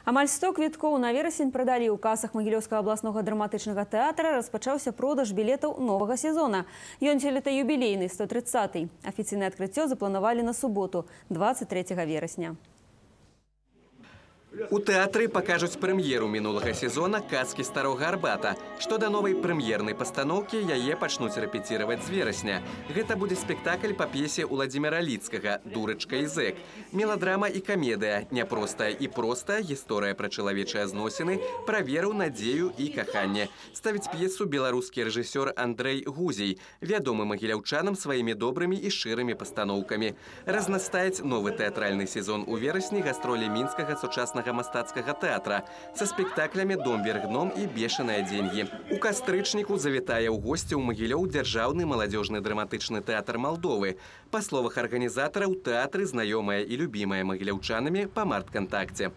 Амаль 100 квіткоў на верасень прадалі ў касах Магілёўскага абласнога драматычнага тэатра. Распачаўся продаж білетаў новага сезона. Ён сёлета юбілейны, 130-й. Афіцыйнае адкрыццё запланавалі на суботу, 23 верасня. У тэатры пакажуць прэм'еру мінулага сезона «Казкі старога Арбата». Што да новай прэм'ернай пастаноўкі, яе пачнуць рэпеціраваць з верасня. Гэта будзе спектакль па п'есе Уладзіміра Ліцкага «Дурачка і зэк». Меладрама і камедыя, няпростая і простая гісторыя пра чалавечыя зносіны, пра веру, надзею і каханне. Ставіць п'есу беларускі рэжысёр Андрэй Гузей, вядомы магіляўчанам сваімі добрымі і шчырымі пастаноўкамі. Разнастаяць новы тэатральны сезон у верасні гастролі мінскага сучаснага мастацкага тэатра са спектаклямі «Дом вверх дном» і «Бешаныя деньги». У кастрычніку завітае ў госці ў Магілёў дзяржаўны маладзёжны драматычны тэатр Малдовы. Па словах арганізатараў, тэатры знаёмыя і любімыя магіляўчанамі па марткантакце.